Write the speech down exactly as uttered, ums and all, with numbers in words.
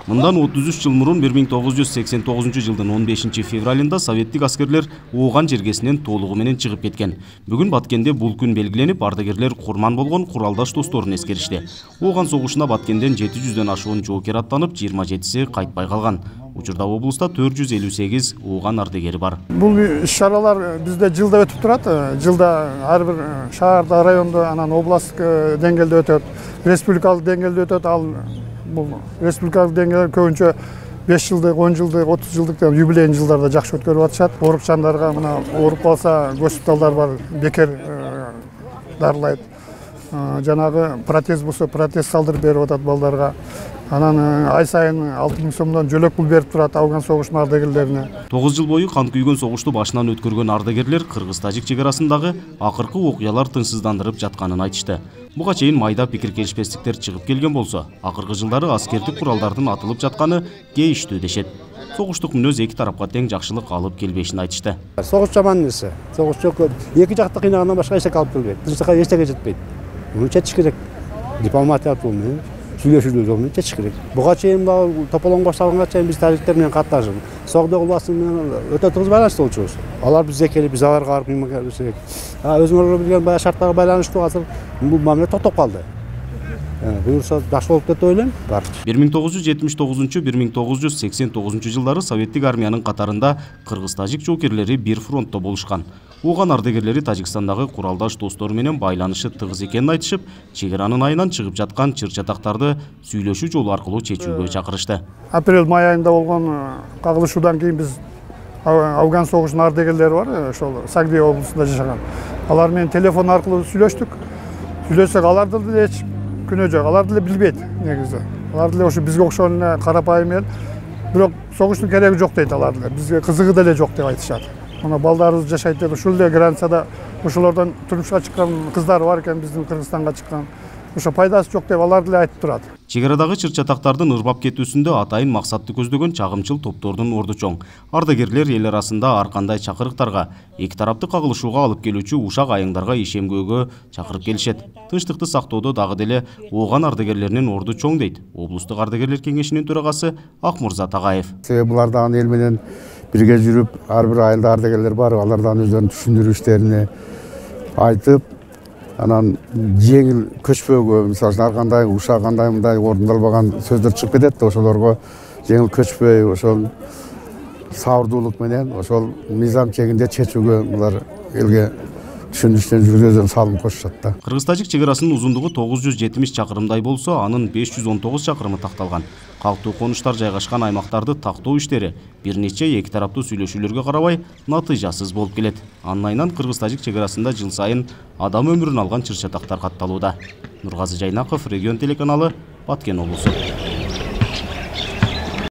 Мындан отуз үч жыл мурун бир миң тогуз жүз сексен тогузунчу жылдын он бешинчи февралында советтик аскерлер Ооган жергесинен толугу менен чыгып кеткен. Бүгүн Баткенде бул күн белгиленип, ардагерлер курман болгон куралдаш досторун эскеришти. Ооган согушуна Баткенден жети жүздөн ашуун жоокер аттанып, жыйырма жетиси кайтпай калган. Учурда облуста төрт жүз элүү сегиз Ооган ардагери бар. Бул иш-чаралар бизде жылда өтүп турат. Жылда ар бир шаарда, райондо, анан областтык деңгээлде өтөт, республикалык деңгээлде өтөт. Ал бул республикалык деңгээлде көбүнчө беш жылдык, он жылдык, отуз жылдык юбилейный жылдарда жакшы өткөрүп атышат. Оорукчандарга мына ооруп калса, госпиталдар бар, бекер дарылайт. Жанагы протез болсо, протез салдырып берип атат балдарга. Анан ай сайын алты миң сомдон жөлөк пул берип турат Афган согушунун ардагерлерине. тогуз жыл бою кан күйгөн согушту башынан өткөргөн ардагерлер кыргыз-тажик чек арасындагы акыркы окуялар тынчсыздандырып жатканын айтышты. Буга чейин майда пикир келишпестиктер чыгып келген болсо, акыркы жылдары аскердик куралдардын атылып жатканы кейиштүү дешет. Согуштук мүнөз эки тарапка тең жакшылык алып келбешин айтышты. Согуш жаман нерсе. Согуш жок. Эки жакты кыйнагандан башка эчтеке алып келбейт. Тынчтыкка эчтеке жетпейт. Муну чечиш керек. Дипломатиялык жол менен, сүйлөшүүдө жол менен чечиш керек. Буга чейин тополоң башталганга чейин биз тажиктер менен катташып, Согдо кулбасы менен өтө тыгыз байланышта болчубуз. Алар бизге келип, биз аларга барып кыймак. Өзүңөр билген баягы шарттарга байланыштуу азыр бул мамиле токтоп калды. Буюрса жакшы болуп деп ойлойм. бир миң тогуз жүз жетимиш тогузунчу — бир миң тогуз жүз сексен тогузунчу жылдары советтик армиянын катарында кыргыз-тажик жоокерлери бир фронтто болушкан. Ооган ардагерлери Тажикстандагы куралдаш достору менен байланышы тыгыз экенин айтышып, чек-аранын айынан чыгып жаткан чыр-чатактарды сүйлөшүү жолу аркылуу чечүүгө чакырышты. Апрель-май айында болгон кагылышуудан кийин биз Афган согушунун ардагерлери бар, ошол Сагдия облусунда жашаган. Алар менен телефон аркылуу сүйлөштүк. Сүйлөшсөк, аларды деле эч күнөө жок, алар деле билбейт негизи. Алар деле ошо бизге окшогон эле карапайым эл. Бирок согуштун кереги жок дейт алар деле. Бизге кызыгы деле жок деп айтышат. Мына балдарыбыз жашайт деп, ушул эле границада ошолордон турмушка чыккан кыздар бар экен, биздин Кыргызстанга чыккан. Ошо пайдасы жок деп алар деле айтып турат. Чек-арадагы чыр-чатактардын ырбап кетүүсүндө атайын максатты көздөгөн чагымчыл топтордун орду чоң. Ардагерлер эл арасында ар кандай чакырыктарга, эки тарапты кагылышууга алып келүүчү ушак айыңдарга ишемгөөгө чакырып келишет. Тынчтыкты сактоодо дагы деле Ооган ардагерлеринин орду чоң дейт облустук ардагерлер кеңешинин төрагасы Акмырза Тагаев. Себеби булар дагы эл менен бирге жүрүп, ар бир айылда ардагерлер бар, алардан өздөрүнүн түшүндүрүү иштерин айтып, анан жеңил көчпөөгө, мисалы үчүн ар кандай ушак кандай мындай орундалбаган сөздөр чыгып кетет да, ошолорго жеңил көчпөй, ошол сабырдуулук менен, ошол мыйзам чегинде чечүүгө булар элге түшүндүрүштөн жүргүзүүдөн салым кошушат да. Кыргыз-тажик чек арасынын узундугу тогуз жүз жетимиш чакырымдай болсо, анын беш жүз он тогуз чакырымы такталган. Калктуу конуштар жайгашкан аймактарды тактоо иштери бир нече эки тараптуу сүйлөшүүлөргө карабай натыйжасыз болуп келет. Анын айынан кыргыз-тажик чек арасында жыл сайын адам өмүрүн алган чыр-чатактар катталууда. Нургазы Жайнаков, Регион телеканалы, Баткен облусу.